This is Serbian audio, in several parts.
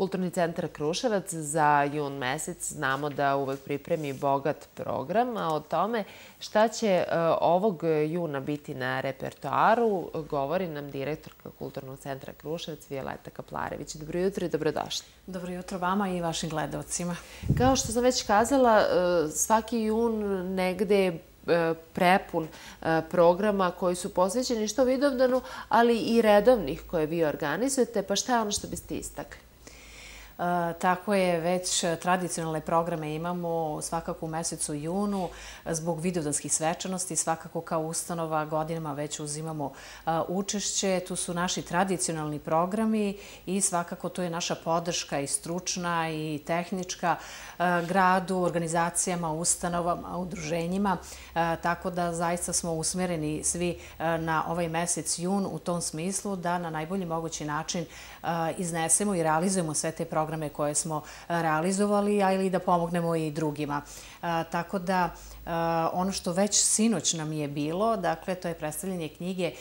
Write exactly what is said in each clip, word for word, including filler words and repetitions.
Kulturni centar Kruševac za jun mesec znamo da uvek pripremi bogat program, a o tome šta će ovog juna biti na repertoaru govori nam direktorka Kulturnog centra Kruševac Violeta Kaplarević. Dobro jutro i dobrodošli. Dobro jutro vama i vašim gledalcima. Kao što sam već kazala, svaki jun negde je prepun programa koji su posvećeni što Vidovdanu, ali i redovnih koje vi organizujete. Pa šta je ono što biste istakli? Tako je, već tradicionalne programe imamo svakako u mesecu junu zbog vidovdanskih svečanosti. Svakako kao ustanova godinama već uzimamo učešće. Tu su naši tradicionalni programi i svakako to je naša podrška i stručna i tehnička gradu, organizacijama, ustanovama, udruženjima. Tako da zaista smo usmereni svi na ovaj mesec jun u tom smislu da na najbolji mogući način iznesemo i realizujemo sve te programe programe koje smo realizovali, ali i da pomognemo i drugima. Tako da ono što već sinoć nam je bilo, dakle, to je predstavljanje knjige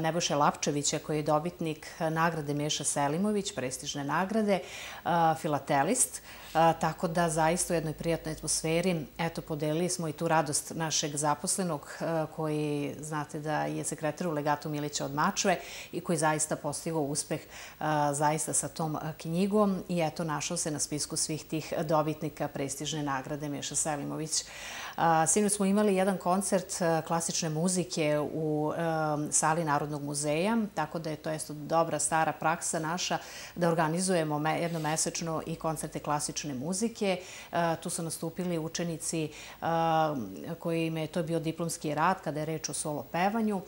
Nebojše Lapčevića, koji je dobitnik nagrade Meša Selimović, prestižne nagrade, filatelist. Tako da zaista u jednoj prijatnoj atmosferi, eto, podelili smo i tu radost našeg zaposlenog koji, znate da je sekretar u legatu Milića od Mačve i koji zaista postigao uspeh zaista sa tom knjigom i eto, našao se na spisku svih tih dobitnika prestižne nagrade Meša Selimović. Sinoć smo imali jedan koncert klasične muzike u sali Narodnog muzeja, tako da je to isto dobra stara praksa naša da organizujemo jednomesečno i koncerte klasične muzike. Tu su nastupili učenici kojima je to bio diplomski rad kada je reč o solo pevanju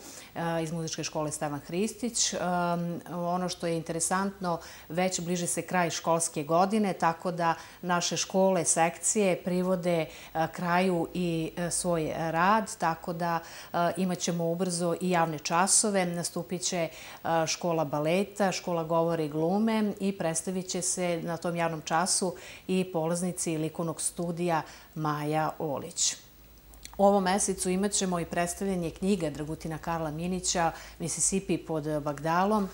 iz muzičke škole Stevan Hristić. Ono što je interesantno, već bliži se kraj školske godine, tako da naše škole, sekcije privode kraju i svoj rad, tako da imat ćemo ubrzo i javne časove. Nastupit će škola baleta, škola govora i glume i predstavit će se na tom javnom času i polaznici likovnog studija Maja Olić. U ovom mesecu imat ćemo i predstavljanje knjiga Dragutina Karla Minića Mississippi pod Bagdalom.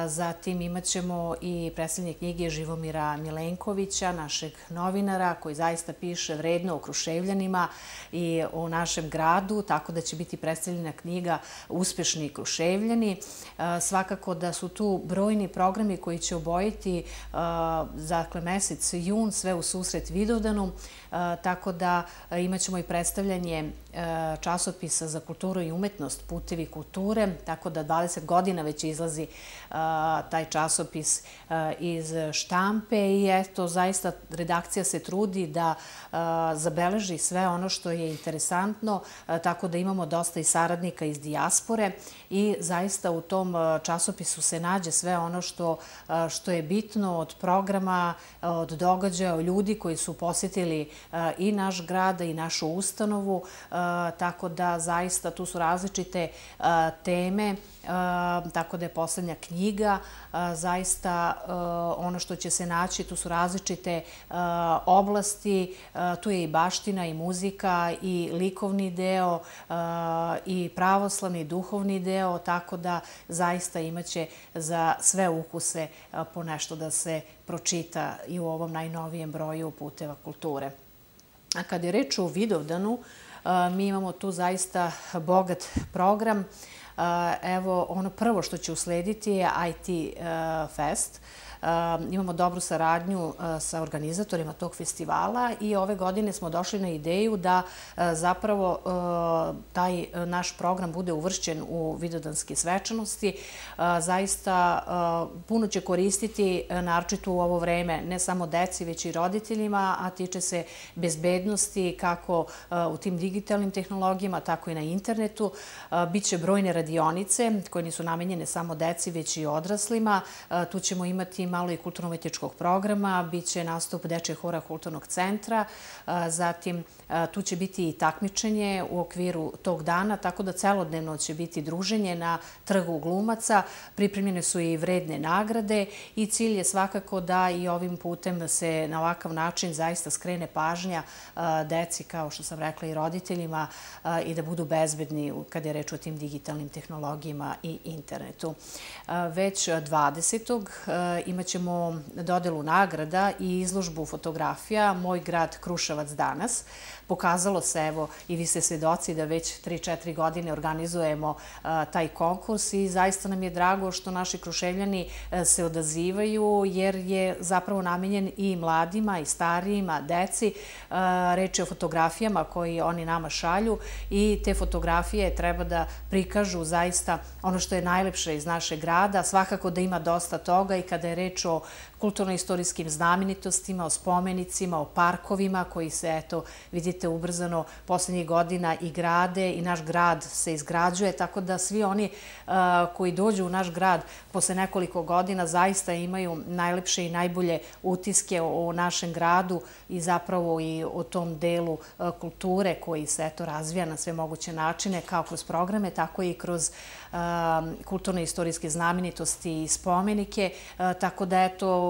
Zatim imat ćemo i predstavljanje knjige Živomira Milenkovića, našeg novinara koji zaista piše vredno o Kruševljanima i o našem gradu, tako da će biti predstavljena knjiga Uspešni Kruševljani. Svakako da su tu brojni programi koji će obojiti dakle, mesec jun, sve u susret Vidovdanu, tako da imat ćemo i predstavljanje časopisa za kulturu i umetnost Putevi kulture, tako da dvadeset godina već izlazi taj časopis iz štampe i eto, zaista redakcija se trudi da zabeleži sve ono što je interesantno, tako da imamo dosta i saradnika iz dijaspore i zaista u tom časopisu se nađe sve ono što, što je bitno od programa, od događaja, od ljudi koji su posjetili i naš grad i našu ustanovu, tako da zaista tu su različite teme, tako da je poslednja knjiga zaista ono što će se naći, tu su različite oblasti, tu je i baština i muzika i likovni deo i pravoslavni i duhovni deo, tako da zaista imaće za sve ukuse po nešto da se pročita i u ovom najnovijem broju Puteva kulture. A kad je reč o Vidovdanu, mi imamo tu zaista bogat program. Evo, ono prvo što će uslediti je I T Fest. Imamo dobru saradnju sa organizatorima tog festivala i ove godine smo došli na ideju da zapravo taj naš program bude uvršćen u vidovdanske svečanosti. Zaista puno će koristiti, naročito u ovo vreme, ne samo deci, već i roditeljima, a tiče se bezbednosti kako u tim digitalnim tehnologijama, tako i na internetu. Biće brojne radionice koje nisu namenjene samo deci, već i odraslima. Tu ćemo imati malo i kulturno-umetničkog programa, bit će nastup Dečijeg hora Kulturnog centra, zatim tu će biti i takmičenje u okviru tog dana, tako da celodnevno će biti druženje na trgu glumaca, pripremljene su i vredne nagrade i cilj je svakako da i ovim putem se na ovakav način zaista skrene pažnja deci, kao što sam rekla, i roditeljima i da budu bezbedni kada je reč o tim digitalnim tehnologijama i internetu. Već dvadesetog imat imat ćemo dodelu nagrada i izložbu fotografija Moj grad Kruševac danas. Pokazalo se, evo, i vi ste svedoci da već tri četiri godine organizujemo taj konkurs i zaista nam je drago što naši Kruševljani se odazivaju jer je zapravo namenjen i mladima i starijima, deci. Reč je o fotografijama koje oni nama šalju i te fotografije treba da prikažu zaista ono što je najlepše iz našeg grada. Svakako da ima dosta toga i kada je reč o kulturno-istorijskim znamenitostima, o spomenicima, o parkovima koji se, eto, vidite, ubrzano poslednjih godina i grade i naš grad se izgrađuje, tako da svi oni koji dođu u naš grad posle nekoliko godina zaista imaju najlepše i najbolje utiske o našem gradu i zapravo i o tom delu kulture koji se, eto, razvija na sve moguće načine, kao kroz programe, tako i kroz kulturno-istorijske znamenitosti i spomenike, tako da, eto,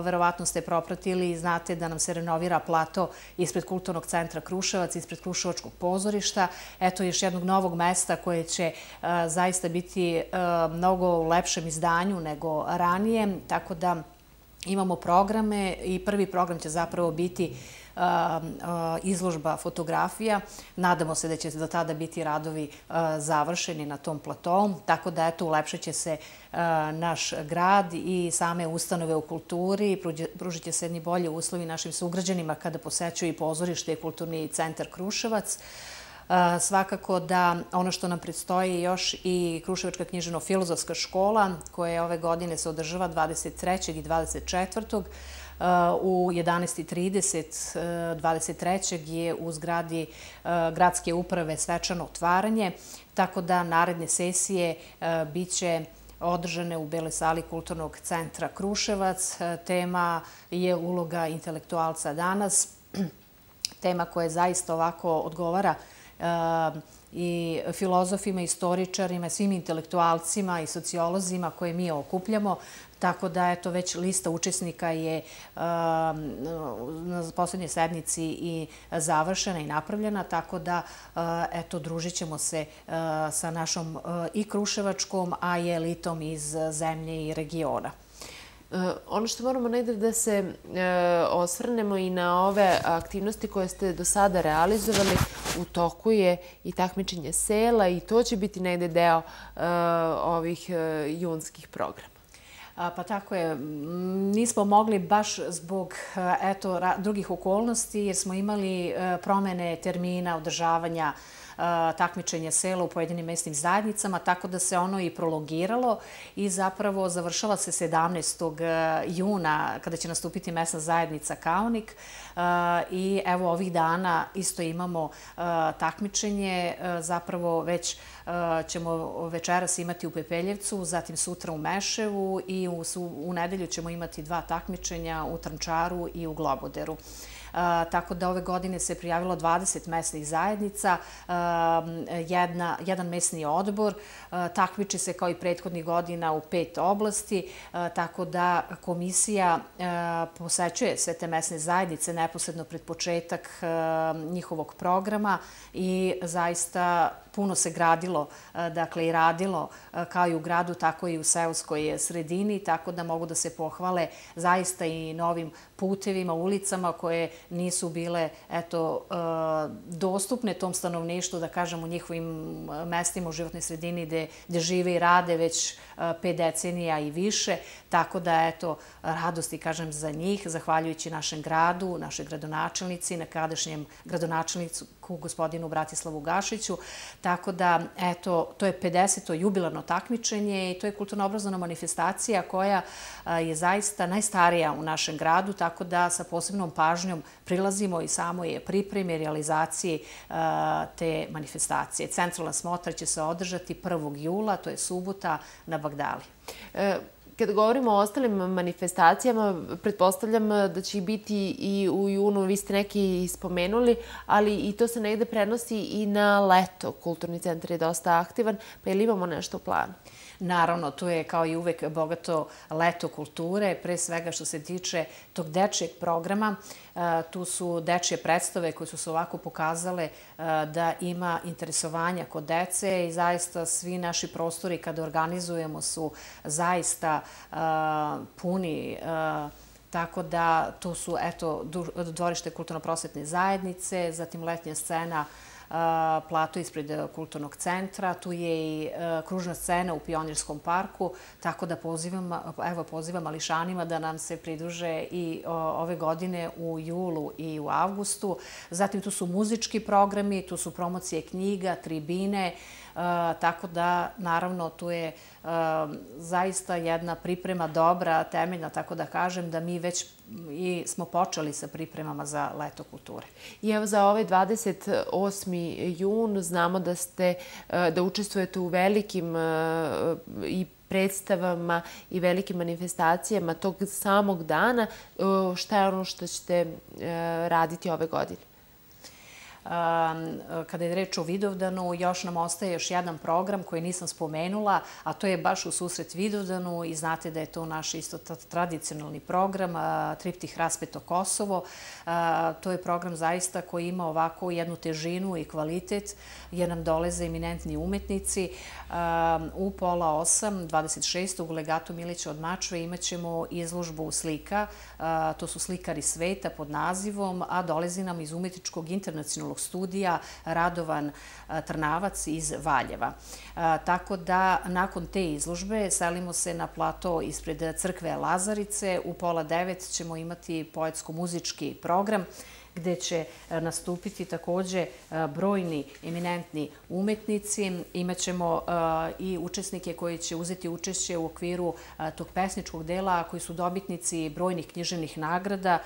verovatno ste propratili i znate da nam se renovira plato ispred Kulturnog centra Kruševac, ispred Kruševačkog pozorišta. Eto, još jednog novog mesta koje će zaista biti mnogo u lepšem izdanju nego ranije, tako da imamo programe i prvi program će zapravo biti izložba fotografija. Nadamo se da će do tada biti radovi završeni na tom platovu, tako da, eto, ulepšat će se naš grad i same ustanove u kulturi, pružit će se jedni bolji uslovi našim sugrađanima kada posećuju i pozorište i Kulturni centar Kruševac. Svakako da ono što nam predstoji još i Kruševačka književno-filozofska škola, koja ove godine se održava dvadeset trećeg i dvadeset četvrtog u jedanaest i trideset. dvadeset trećeg je u zgradi gradske uprave svečano otvaranje, tako da naredne sesije biće održane u Beloj sali Kulturnog centra Kruševac. Tema je uloga intelektualca danas, tema koja zaista ovako odgovara i filozofima, istoričarima, svim intelektualcima i sociolozima koje mi okupljamo. Tako da, eto, već lista učesnika je na poslednjoj sednici i završena i napravljena, tako da, eto, družit ćemo se sa našom i kruševačkom, a i elitom iz zemlje i regiona. Ono što moramo negde da se osvrnemo i na ove aktivnosti koje ste do sada realizovali, u toku je i takmičenje sela i to će biti negde deo ovih junskih programa. Pa tako je. Nismo mogli baš zbog, eto, drugih okolnosti, jer smo imali promene termina održavanja takmičenja sela u pojedinim mesnim zajednicama, tako da se ono i prolongiralo i zapravo završava se sedamnaestog juna kada će nastupiti mesna zajednica Kaonik i evo ovih dana isto imamo takmičenje, zapravo već ćemo večeras imati u Pepeljevcu, zatim sutra u Meševu i u nedelju ćemo imati dva takmičenja u Trnčaru i u Globoderu. Tako da ove godine se prijavilo dvadeset mesnih zajednica, jedan mesni odbor, takmiči se kao i prethodnih godina u pet oblasti, tako da komisija posećuje sve te mesne zajednice neposredno pred početak njihovog programa i zaista puno se gradilo, dakle i radilo kao i u gradu, tako i u seoskoj sredini, tako da mogu da se pohvale zaista i novim putevima, ulicama koje nisu bile, eto, dostupne tom stanovništvu, da kažem, u njihovim mestima, u životnoj sredini gde žive i rade već pet decenija i više, tako da, eto, radosti, kažem, za njih, zahvaljujući našem gradu, našoj gradonačelnici, nekadašnjem gradonačelniku gospodinu Bratislavu Gašiću, tako da, eto, to je pedeseto jubilarno takmičenje i to je kulturno-obrazovna manifestacija koja je zaista najstarija u našem gradu, tako da sa posebnom pažnjom prilazimo i samoj pripremi i realizaciji te manifestacije. Centralna smotra će se održati prvog jula, to je subota, na Bagdali. Kada govorimo o ostalim manifestacijama, pretpostavljam da će biti i u junu, vi ste neki spomenuli, ali i to se negde prenosi i na leto. Kulturni centar je dosta aktivan, pa ili imamo nešto u planu? Naravno, tu je kao i uvek bogato leto kulture, pre svega što se tiče tog dečijeg programa. Tu su dečje predstave koje su se ovako pokazale da ima interesovanja kod dece i zaista svi naši prostori kada organizujemo su zaista puni. Tako da tu su, eto, dvorište kulturno-prosvetne zajednice, zatim letnja scena plato ispred kulturnog centra, tu je i kružna scena u Pionirskom parku, tako da pozivam, evo, pozivam mališanima da nam se pridruže i ove godine u julu i u avgustu. Zatim tu su muzički programi, tu su promocije knjiga, tribine, tako da, naravno, tu je zaista jedna priprema dobra, temeljna, tako da kažem, da mi već i smo počeli sa pripremama za Leto kulture. I evo za ovaj dvadeset osmi jun znamo da ste, da učestvujete u velikim i predstavama i velikim manifestacijama tog samog dana. Šta je ono što ćete raditi ove godine? Kada je reč o Vidovdanu, još nam ostaje još jedan program koji nisam spomenula, a to je baš u susret Vidovdanu i znate da je to naš isto tradicionalni program, Triptih Raspeto Kosovo. To je program zaista koji ima ovako jednu težinu i kvalitet, jer nam dolaze eminentni umetnici. U pola osam, dvadeset šestog u Legatu Milića od Mačve imat ćemo izložbu slika. To su slikari sveta pod nazivom, a dolazi nam iz umetničkog internacionalnog studija Radovan Trnavac iz Valjeva. Tako da nakon te izložbe selimo se na plato ispred crkve Lazarice. U pola devet ćemo imati poetsko-muzički program gde će nastupiti takođe brojni eminentni umetnici. Imaćemo i učesnike koji će uzeti učešće u okviru tog pesničkog dela, koji su dobitnici brojnih književnih nagrada.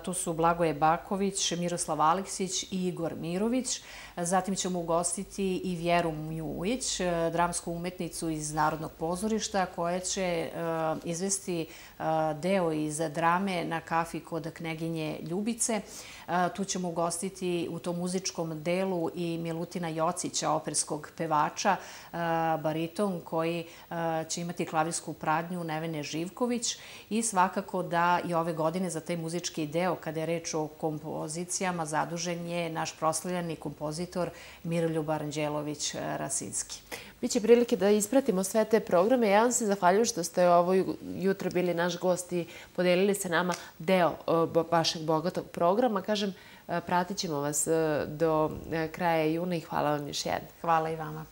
Tu su Blagoje Baković, Miroslav Aleksić i Igor Mirović. Zatim ćemo ugostiti i Vjeru Mjujić, dramsku umetnicu iz Narodnog pozorišta, koja će izvesti deo iz drame na kafi kod Kneginje Ljubice. Tu ćemo ugostiti u tom muzičkom delu i Milutina Jocića, operskog pevača, bariton, koji će imati klavirsku pradnju Nevene Živković. I svakako da i ove godine za taj muzički deo, kada je reč o kompozicijama, zadužen je naš proslavljeni kompozitor Miroljub Aranđelović-Rasinski. Biće prilike da ispratimo sve te programe. Ja vam se zahvaljujem što ste ovo jutro bili naš gost i podelili sa nama deo vašeg bogatog programa. Kažem, pratit ćemo vas do kraja juna i hvala vam još jednom. Hvala i vama.